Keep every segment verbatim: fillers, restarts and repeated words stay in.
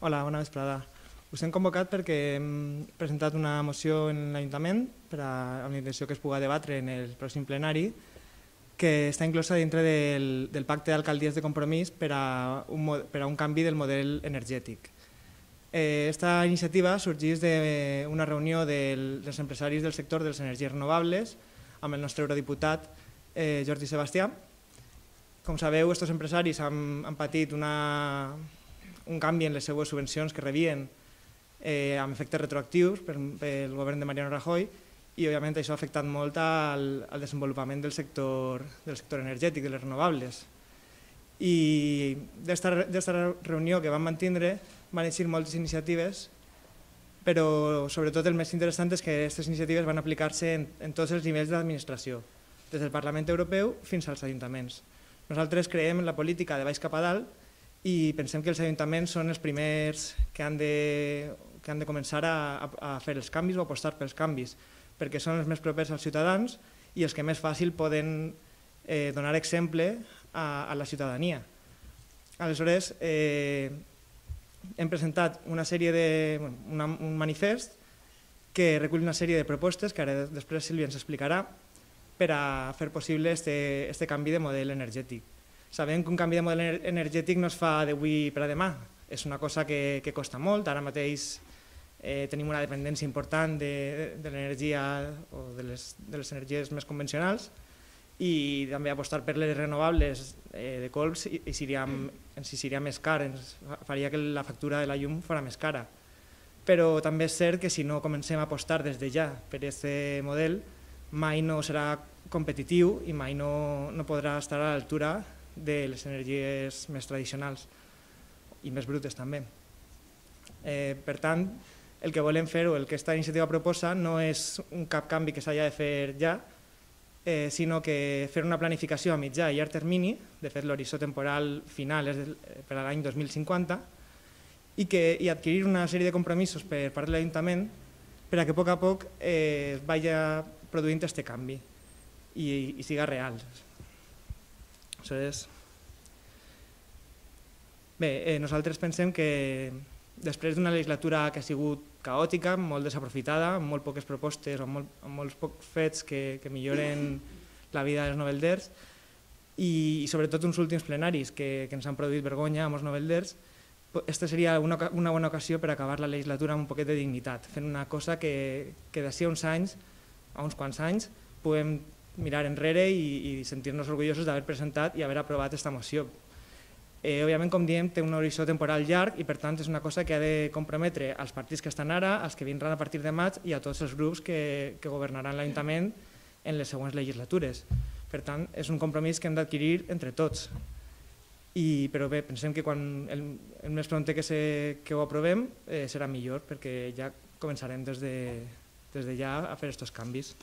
Hola, bona vesprada. Us hem convocat perquè hem presentat una moció en l'Ajuntament per a, amb la intenció que es pugui debatre en el pròxim plenari, que està inclosa dintre del, del pacte d'alcaldies de compromís per a, un, per a un canvi del model energètic. Aquesta eh, iniciativa sorgeix d'una reunió del, dels empresaris del sector de les energies renovables amb el nostre eurodiputat eh, Jordi Sebastià. Com sabeu, aquests empresaris han, han patit una, un canvi en les seues subvencions que rebien eh, amb efectes retroactius pel govern de Mariano Rajoy i, òbviament, això ha afectat molt al, al desenvolupament del sector, del sector energètic, de les renovables. I d'esta reunió que vam mantindre van eixir moltes iniciatives, però sobretot el més interessant és que aquestes iniciatives van aplicar-se en, en tots els nivells d'administració, des del Parlament Europeu fins als ajuntaments. Nosaltres creiem en la política de baix cap a dalt i pensem que els ajuntaments són els primers que han de, que han de començar a, a fer els canvis o apostar pels canvis, perquè són els més propers als ciutadans i els que més fàcil poden eh, donar exemple a, a la ciutadania. Aleshores, eh, hem presentat una sèrie de, una, un manifest que recull una sèrie de propostes que ara després Sílvia ens explicarà per a fer possible este, este canvi de model energètic. Sabem que un canvi de model energètic no es fa d'avui per a demà, és una cosa que, que costa molt. Ara mateix eh, tenim una dependència important de, de l'energia o de les, de les energies més convencionals i també apostar per les renovables eh, de colps i, i seria, ens seria més car, ens faria que la factura de la llum fos més cara. Però també és cert que si no comencem a apostar des de ja per aquest model, mai no serà competitiu i mai no, no podrà estar a l'altura de les energies més tradicionals i més brutes també. Eh, per tant, el que volem fer o el que aquesta iniciativa proposa no és un cap canvi que s'hagi de fer ja, eh, sinó que fer una planificació a mitjà i llarg termini, de fet l'horitzó temporal final és per a l'any dos mil cinquanta, i, que, i adquirir una sèrie de compromisos per part de l'Ajuntament per a que a poc a poc eh, es vagi produint aquest canvi i, i siga real. Aleshores, bé, eh, nosaltres pensem que després d'una legislatura que ha sigut caòtica, molt desaprofitada, amb molt poques propostes o amb, molt, amb molts pocs fets que, que milloren la vida dels novelders i, i sobretot uns últims plenaris que, que ens han produït vergonya amb els novelders, aquesta seria una, una bona ocasió per acabar la legislatura amb un poquet de dignitat, fent una cosa que, que d'ací a uns anys, a uns quants anys, puguem mirar enrere i, i sentir-nos orgullosos d'haver presentat i haver aprovat aquesta moció. Eh, òbviament, com diem, té un horitzó temporal llarg i per tant és una cosa que ha de comprometre als partits que estan ara, als que vindran a partir de maig i a tots els grups que, que governaran l'Ajuntament en les següents legislatures. Per tant, és un compromís que hem d'adquirir entre tots. I, però bé, pensem que quan el, el més prompte que, se, que ho aprovem eh, serà millor perquè ja començarem des de, des de ja a fer aquests canvis.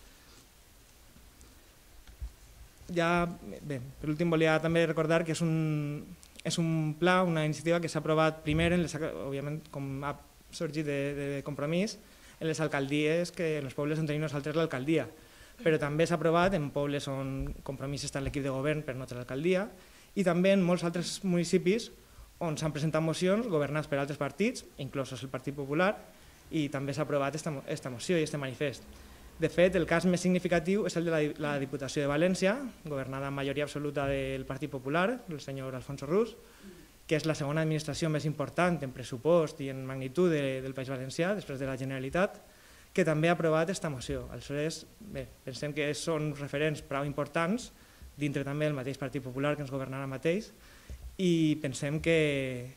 Ja, bé, per últim volia també recordar que és un, és un pla, una iniciativa que s'ha aprovat primer, en les, òbviament, com ha sorgit de, de compromís, en les alcaldies, que en els pobles on tenim nosaltres l'alcaldia, però també s'ha aprovat en pobles on Compromís està en l'equip de govern per no tenir l'alcaldia i també en molts altres municipis on s'han presentat mocions governats per altres partits, inclosos el Partit Popular, i també s'ha aprovat aquesta moció i aquest manifest. De fet, el cas més significatiu és el de la Diputació de València, governada amb majoria absoluta del Partit Popular, el senyor Alfonso Rus, que és la segona administració més important en pressupost i en magnitud de, del País Valencià, després de la Generalitat, que també ha aprovat aquesta moció. Aleshores, bé, pensem que són referents prou importants, dintre també del mateix Partit Popular que ens governarà mateix, i pensem que,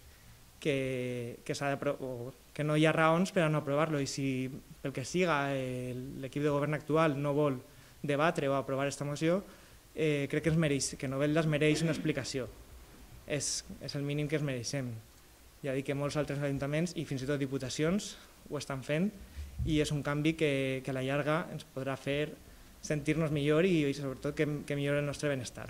que, que, que no hi ha raons per a no aprovar-lo, i si pel que siga l'equip de govern actual no vol debatre o aprovar aquesta moció, eh, crec que, ens mereix, que Novelda es mereix una explicació. És, és el mínim que es mereixem. Ja dic que molts altres ajuntaments i fins i tot diputacions ho estan fent i és un canvi que, que a la llarga ens podrà fer sentir-nos millor i, i sobretot que, que millora el nostre benestar.